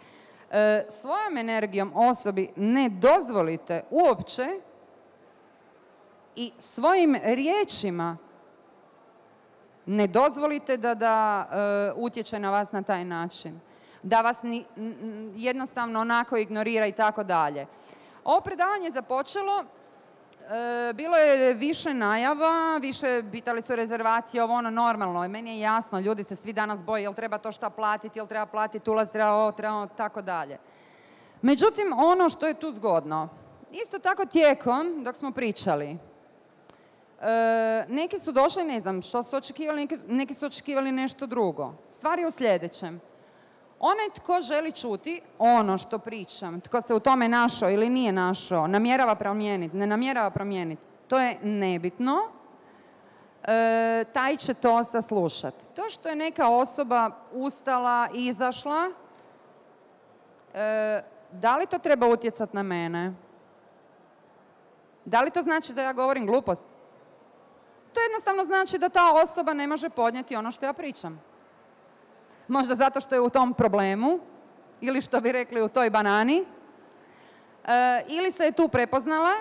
svojom energijom osobi ne dozvolite uopće i svojim riječima Ne dozvolite da utječe na vas na taj način. Da vas jednostavno onako ignorira i tako dalje. Ovo predavanje je započelo, bilo je više najava, više pitali su rezervacije, ovo ono normalno. Meni je jasno, ljudi se svi danas boje, jel treba to šta platiti, jel treba platiti ulaz, treba ovo, tako dalje. Međutim, ono što je tu zgodno, isto tako tijekom, dok smo pričali, neki su došli, ne znam što su očekivali, neki su očekivali nešto drugo. Stvar je u sljedećem. Onaj tko želi čuti ono što pričam, tko se u tome našao ili nije našao, namjerava promijeniti, ne namjerava promijeniti, to je nebitno, taj će to saslušati. To što je neka osoba ustala, izašla, da li to treba utjecati na mene? Da li to znači da ja govorim glupost? To jednostavno znači da ta osoba ne može podnijeti ono što ja pričam. Možda zato što je u tom problemu, ili što bi rekli u toj banani, ili se je tu prepoznala,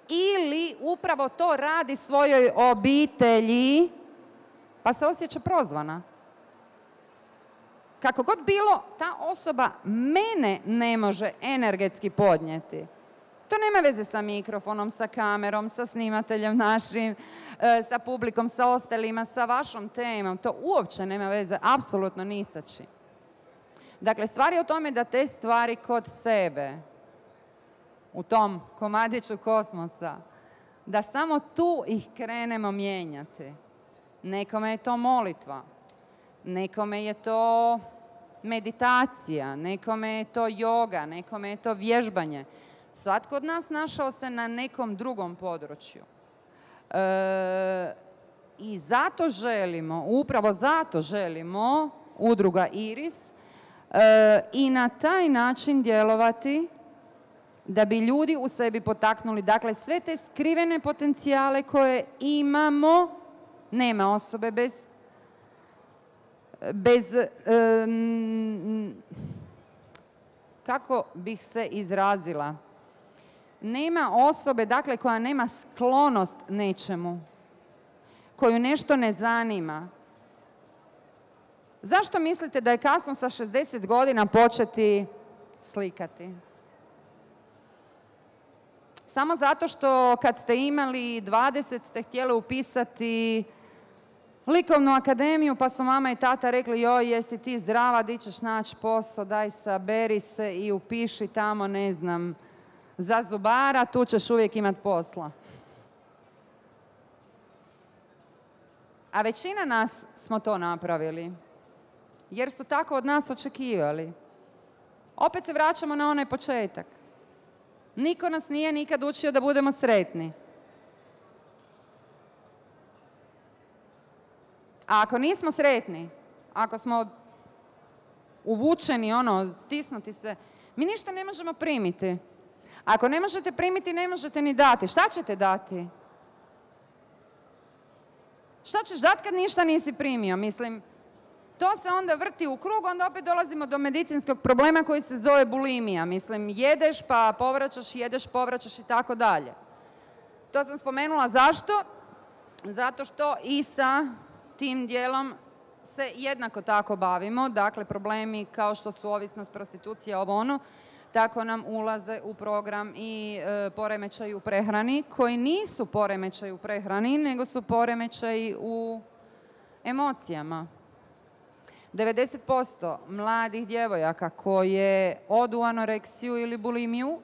ili upravo to radi svojoj obitelji, pa se osjeća prozvana. Kako god bilo, ta osoba mene ne može energetski podnijeti. To nema veze sa mikrofonom, sa kamerom, sa snimateljem našim, sa publikom, sa ostalima, sa vašom temom. To uopće nema veze, apsolutno ni sa čim. Dakle, stvar je o tome da te stvari kod sebe, u tom komadiću kosmosa, da samo tu ih krenemo mijenjati. Nekome je to molitva, nekome je to meditacija, nekome je to joga, nekome je to vježbanje. Svatko od nas našao se na nekom drugom području. I zato želimo, upravo zato želimo, udruga Iris, i na taj način djelovati da bi ljudi u sebi potaknuli. Dakle, sve te skrivene potencijale koje imamo, nema osobe bez kako bih se izrazila, nema osobe, dakle, koja nema sklonost nečemu, koju nešto ne zanima. Zašto mislite da je kasno sa 60 godina početi slikati? Samo zato što kad ste imali 20 ste htjeli upisati likovnu akademiju, pa su mama i tata rekli, joj, jesi ti zdrava, di ćeš naći posao, daj saberi se i upiši tamo, ne znam, za zubara, tu ćeš uvijek imati posla. A većina nas smo to napravili, jer su tako od nas očekivali. Opet se vraćamo na onaj početak. Niko nas nije nikad učio da budemo sretni. A ako nismo sretni, ako smo uvučeni, stisnuti se, mi ništa ne možemo primiti. Ako ne možete primiti, ne možete ni dati. Šta ćete dati? Šta ćeš dati kad ništa nisi primio? Mislim, to se onda vrti u krug, onda opet dolazimo do medicinskog problema koji se zove bulimija. Mislim, jedeš pa povraćaš, jedeš, povraćaš i tako dalje. To sam spomenula zašto? Zato što i sa tim dijelom se jednako tako bavimo. Dakle, problemi kao što su ovisnost, prostitucija, ovo ono, tako nam ulaze u program i poremećaji u prehrani, koji nisu poremećaji u prehrani, nego su poremećaji u emocijama. 90% mladih djevojaka koje odu u anoreksiju ili bulimiju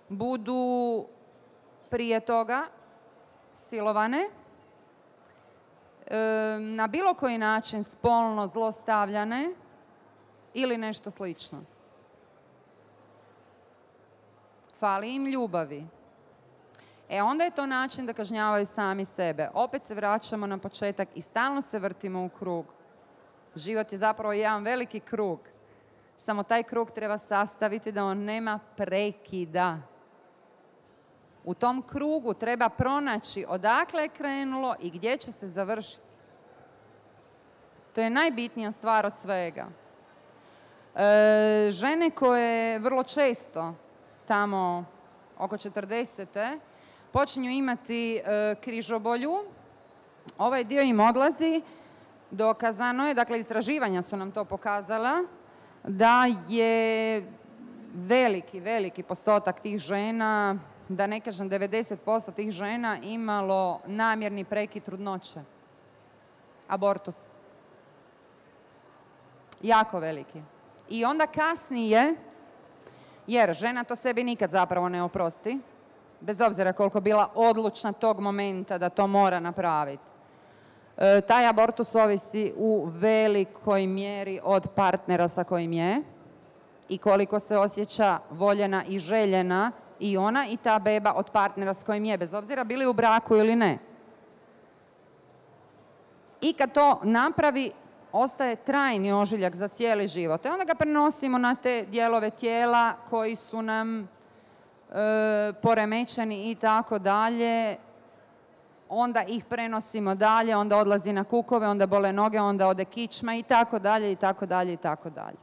budu prije toga silovane, na bilo koji način spolno zlostavljane ili nešto slično. Fali im ljubavi. Onda je to način da kažnjavaju sami sebe. Opet se vraćamo na početak i stalno se vrtimo u krug. Život je zapravo jedan veliki krug. Samo taj krug treba sastaviti da on nema prekida. U tom krugu treba pronaći odakle je krenulo i gdje će se završiti. To je najbitnija stvar od svega. Žene koje vrlo često, tamo oko 40. počinju imati križobolju, Ovaj dio im odlazi. Dokazano je, dakle istraživanja su nam to pokazala, da je veliki postotak tih žena, da ne kažem 90% tih žena imalo namjerni prekid trudnoće. Abortus. Jako veliki. I onda kasnije, jer žena to sebi nikad zapravo ne oprosti, bez obzira koliko bila odlučna tog momenta da to mora napraviti. Taj abortus ovisi u velikoj mjeri od partnera sa kojim je i koliko se osjeća voljena i željena i ona i ta beba od partnera s kojim je, bez obzira bili u braku ili ne. I kad to napravi, ostaje trajni ožiljak za cijeli život. Onda ga prenosimo na te dijelove tijela koji su nam poremećeni i tako dalje. Onda ih prenosimo dalje, onda odlazi na kukove, onda bole noge, onda ode kičma i tako dalje, i tako dalje, i tako dalje.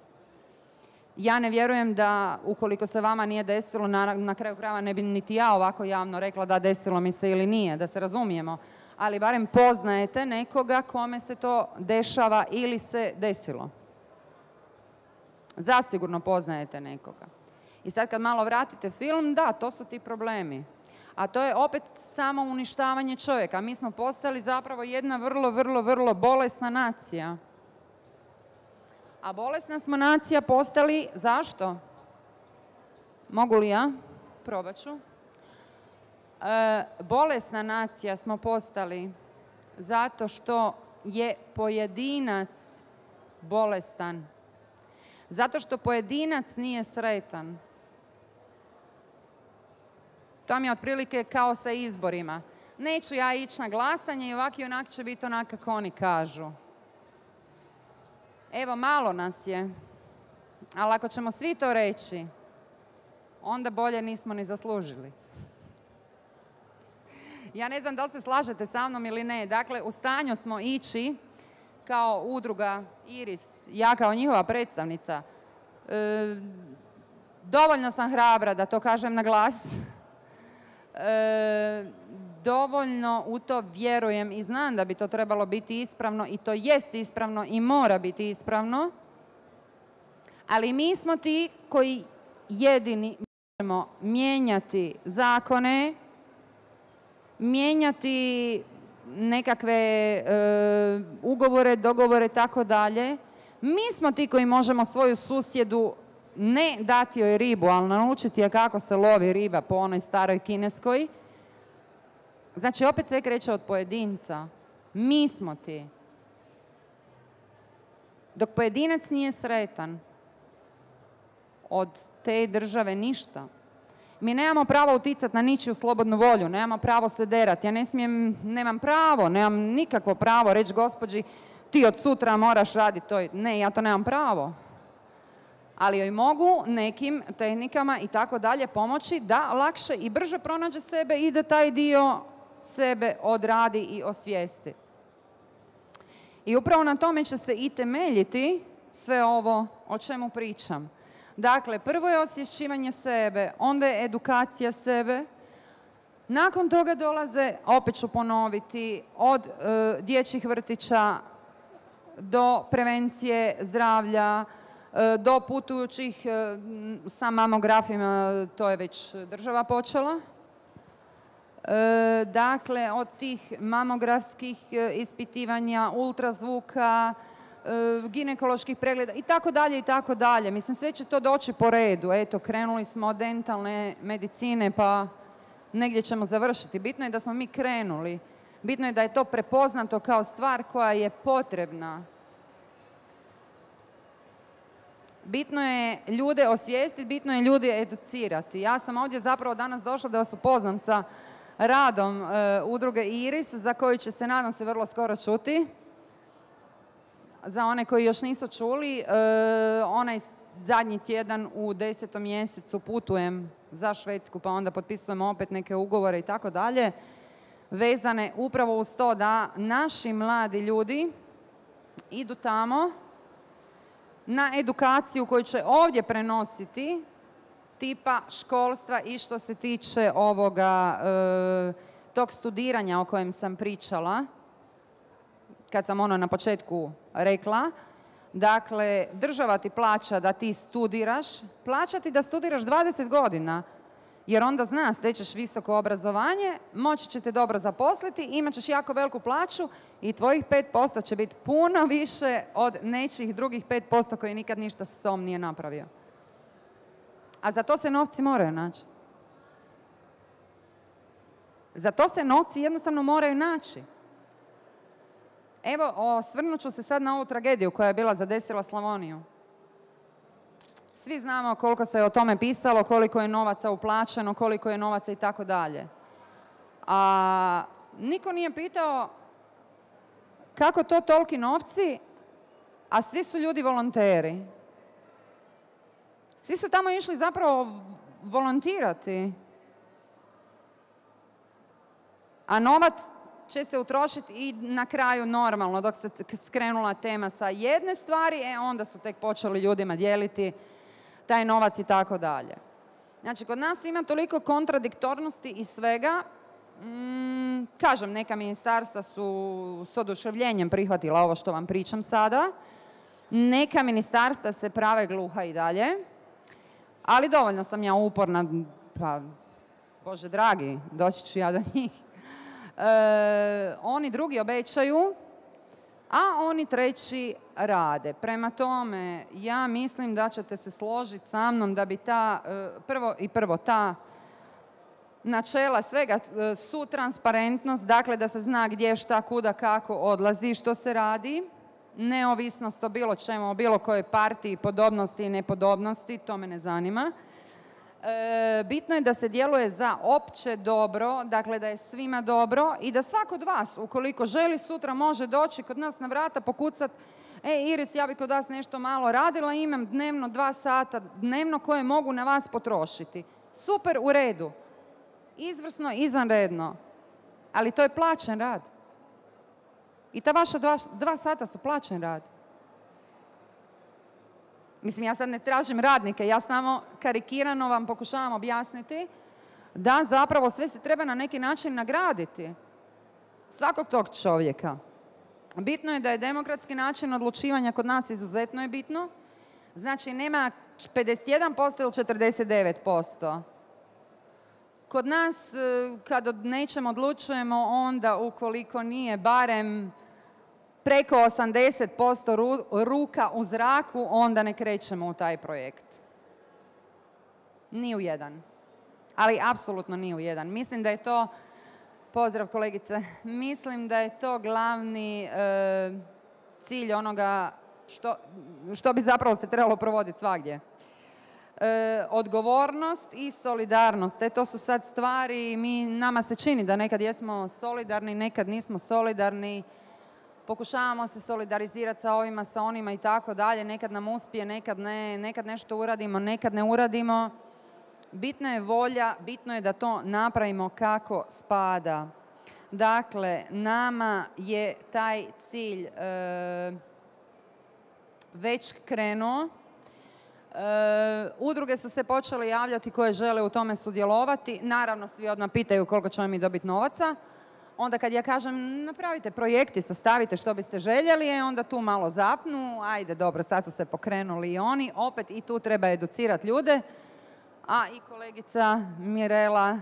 Ja ne vjerujem da, ukoliko se vama nije desilo, na kraju krajeva ne bi niti ja ovako javno rekla da desilo mi se ili nije, da se razumijemo, ali barem poznajete nekoga kome se to dešava ili se desilo. Zasigurno poznajete nekoga. I sad kad malo vratite film, da, to su ti problemi. A to je opet samo uništavanje čovjeka. Mi smo postali zapravo jedna vrlo bolesna nacija. A bolesna smo nacija postali, zašto? Mogu li ja? Probat ću. Bolesna nacija smo postali zato što je pojedinac bolestan. Zato što pojedinac nije sretan. To mi je otprilike kao sa izborima. Neću ja ići na glasanje i ovak i onak će biti onak kako oni kažu. Evo, malo nas je. Ali ako ćemo svi to reći, onda bolje nismo ni zaslužili. Ja ne znam da li se slažete sa mnom ili ne. Dakle, u stanju smo ići kao udruga Iris, ja kao njihova predstavnica. Dovoljno sam hrabra da to kažem na glas. Dovoljno u to vjerujem i znam da bi to trebalo biti ispravno i to jest ispravno i mora biti ispravno, ali mi smo ti koji jedini možemo mijenjati zakone, mijenjati nekakve ugovore, dogovore, tako dalje. Mi smo ti koji možemo svoju susjedu ne dati joj ribu, ali naučiti je kako se lovi riba po onoj staroj kineskoj. Znači, opet sve kreće od pojedinca. Mi smo ti. Dok pojedinac nije sretan, od te države ništa. Mi nemamo pravo uticati na ničiju slobodnu volju, nemamo pravo se derati. Ja nemam pravo, nemam nikakvo pravo reći gospođi ti od sutra moraš raditi to. Ne, ja to nemam pravo. Ali joj mogu nekim tehnikama i tako dalje pomoći da lakše i brže pronađe sebe i da taj dio sebe odradi i osvijesti. I upravo na tome će se i temeljiti sve ovo o čemu pričam. Dakle, prvo je osvješćivanje sebe, onda je edukacija sebe. Nakon toga dolaze, opet ću ponoviti, od dječjih vrtića do prevencije zdravlja, do putujućih sa mamografima, to je već država počela. Dakle, od tih mamografskih ispitivanja, ultrazvuka, ginekoloških pregleda i tako dalje i tako dalje. Mislim, sve će to doći po redu. Eto, krenuli smo od dentalne medicine, pa negdje ćemo završiti. Bitno je da smo mi krenuli. Bitno je da je to prepoznato kao stvar koja je potrebna. Bitno je ljude osvijestiti, bitno je ljude educirati. Ja sam ovdje zapravo danas došla da vas upoznam sa radom udruge Iris, za koju će se, nadam se, vrlo skoro čuti. Za one koji još nisu čuli, onaj zadnji tjedan u 10. mjesecu putujem za Švedsku, pa onda potpisujemo opet neke ugovore i tako dalje, vezane upravo uz to da naši mladi ljudi idu tamo na edukaciju koju će ovdje prenositi tipa školstva i što se tiče ovoga, tog studiranja o kojem sam pričala. kad sam na početku rekla. Dakle, država ti plaća da ti studiraš, plaća ti da studiraš 20 godina, jer onda zna, stečeš visoko obrazovanje, moći će te dobro zaposliti, imat ćeš jako veliku plaću i tvojih 5% će biti puno više od nečih drugih 5% koji nikad ništa s sobom nije napravio. A za to se novci moraju naći. Za to se novci jednostavno moraju naći. Evo, osvrnut ću se sad na ovu tragediju koja je bila zadesila Slavoniju. Svi znamo koliko se o tome pisalo, koliko je novaca uplaćeno, koliko je novaca i tako dalje. A niko nije pitao kako to toliki novci, a svi su ljudi volonteri. Svi su tamo išli zapravo volontirati. A novac će se utrošiti i na kraju normalno, dok se skrenula tema sa jedne stvari, onda su tek počeli ljudima dijeliti taj novac i tako dalje. Znači, kod nas ima toliko kontradiktornosti i svega. Kažem, neka ministarstva su s oduševljenjem prihvatila ovo što vam pričam sada. Neka ministarstva se prave gluha i dalje. Ali dovoljno sam ja uporna, pa, Bože dragi, doći ću ja do njih. Oni drugi obećaju, a oni treći rade. Prema tome, ja mislim da ćete se složiti sa mnom da bi ta načela svega su transparentnost, dakle da se zna gdje, šta, kuda, kako odlazi, što se radi, neovisnost o bilo čemu, o bilo kojoj partiji, podobnosti i nepodobnosti, to me ne zanima. Bitno je da se djeluje za opće dobro, dakle da je svima dobro i da svako od vas, ukoliko želi, sutra može doći kod nas na vrata, pokucati: Iris, ja bi kod vas nešto malo radila, imam dnevno 2 sata dnevno koje mogu na vas potrošiti. Super, u redu. Izvrsno, izvanredno. Ali to je plaćen rad. I ta vaša 2 sata su plaćen rad. Mislim, ja sad ne tražim radnike, ja samo karikirano vam pokušavam objasniti da zapravo sve se treba na neki način nagraditi. Svakog tog čovjeka. Bitno je da je demokratski način odlučivanja kod nas izuzetno je bitno. Znači, nema 51% ili 49%. Kod nas, kad o nečem odlučujemo, onda ukoliko nije barem preko 80% ruka u zraku, onda ne krećemo u taj projekt. Ni u jedan. Ali apsolutno ni u jedan. Mislim da je to, pozdrav kolegice, mislim da je to glavni cilj onoga što bi zapravo se trebalo provoditi svagdje. Odgovornost i solidarnost. To su sad stvari, nama se čini da nekad jesmo solidarni, nekad nismo solidarni. Pokušavamo se solidarizirati sa ovima, sa onima i tako dalje. Nekad nam uspije, nekad ne, nekad nešto uradimo, nekad ne uradimo. Bitna je volja, bitno je da to napravimo kako spada. Dakle, nama je taj cilj već krenuo. Udruge su se počele javljati koje žele u tome sudjelovati. Naravno, svi odmah pitaju koliko ćemo mi dobiti novaca. Onda kad ja kažem napravite projekti, sastavite što biste željeli, onda tu malo zapnu. Ajde, dobro, sad su se pokrenuli i oni. Opet i tu treba educirati ljude. A i kolegica Mirela,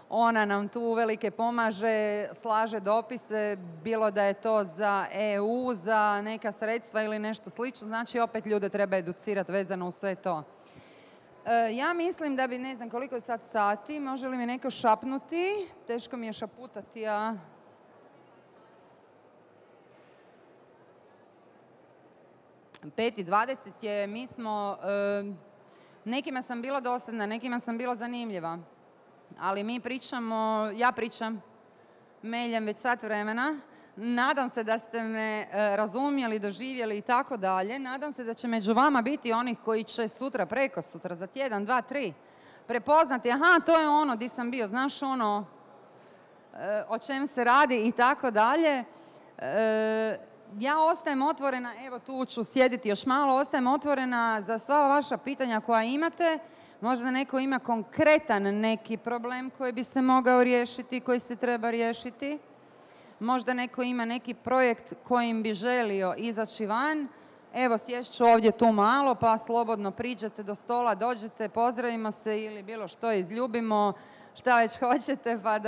ona nam tu uvelike pomaže, slaže dopise, bilo da je to za EU, za neka sredstva ili nešto slično. Znači, opet ljude treba educirati vezano u sve to. Ja mislim da bi, ne znam koliko je sad sati, može li mi neko šapnuti? Teško mi je šaputati, a... Pet i 20 je, mi smo... Nekima sam bila dosadna, nekima sam bila zanimljiva. Ali mi pričamo, ja pričam meljem već sat vremena. Nadam se da ste me razumjeli, doživjeli i tako dalje. Nadam se da će među vama biti onih koji će sutra, preko sutra, za tjedan, 2, 3 prepoznati, aha, to je ono di sam bio, znaš ono o čem se radi i tako dalje. Ja ostajem otvorena, evo tu ću sjediti još malo, ostajem otvorena za sva vaša pitanja koja imate. Možda neko ima konkretan neki problem koji bi se mogao riješiti, koji se treba riješiti. možda neko ima neki projekt kojim bi želio izaći van. Evo, sješću ovdje tu malo, pa slobodno priđete do stola, dođete, pozdravimo se ili bilo što izljubimo, šta već hoćete, pa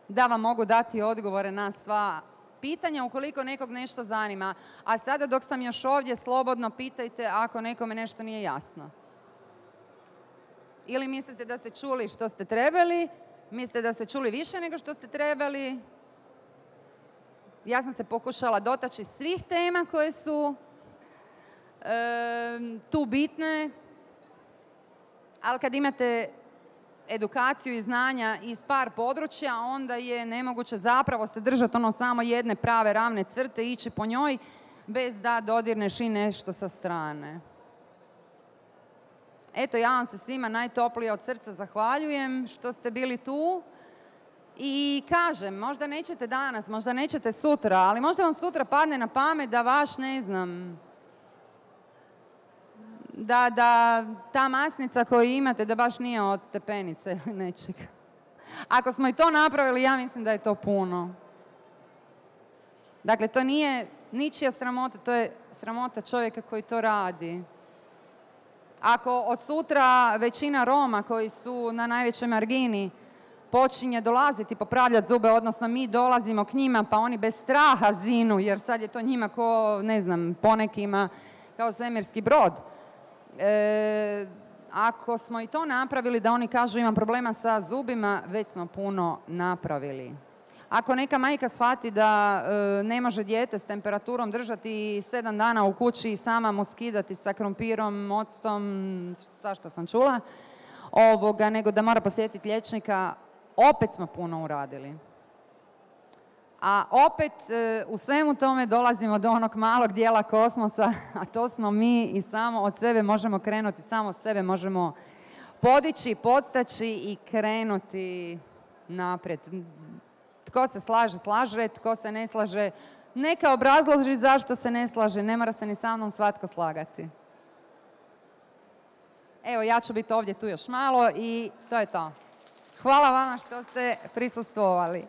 da vam mogu dati odgovore na sva pitanja ukoliko nekog nešto zanima. A sada dok sam još ovdje, slobodno pitajte ako nekome nešto nije jasno. Ili mislite da ste čuli što ste trebali, mislite da ste čuli više nego što ste trebali. Ja sam se pokušala dotaći svih tema koje su tu bitne, ali kad imate edukaciju i znanja iz par područja, onda je nemoguće zapravo se držati samo jedne prave ravne crte i ići po njoj bez da dodirneš i nešto sa strane. Eto, ja vam se svima najtoplije od srca zahvaljujem što ste bili tu. I kažem, možda nećete danas, možda nećete sutra, ali možda vam sutra padne na pamet da vaš, ne znam, da ta masnica koju imate da baš nije od stepenice ili nečega. Ako smo i to napravili, ja mislim da je to puno. Dakle, to nije ničija sramota, to je sramota čovjeka koji to radi. Ako od sutra većina Roma koji su na najvećoj margini počinje dolaziti popravljati zube, odnosno mi dolazimo k njima pa oni bez straha zinu, jer sad je to njima ko, ne znam, ponekima kao svemirski brod. Ako smo i to napravili da oni kažu imam problema sa zubima, već smo puno napravili. Ako neka majka shvati da ne može dijete s temperaturom držati 7 dana u kući i sama mu skidati sa krompirom, octom, svašta sam čula, nego da mora posjetiti liječnika, opet smo puno uradili. A opet u svemu tome dolazimo do onog malog dijela kosmosa, a to smo mi i samo od sebe možemo krenuti, samo sebe možemo podići, podstaći i krenuti naprijed. Tko se slaže, slaže, tko se ne slaže, neka obrazloži zašto se ne slaže, ne mora se ni sa mnom svatko slagati. Evo, ja ću biti ovdje tu još malo i to je to. Hvala vama što ste prisustvovali.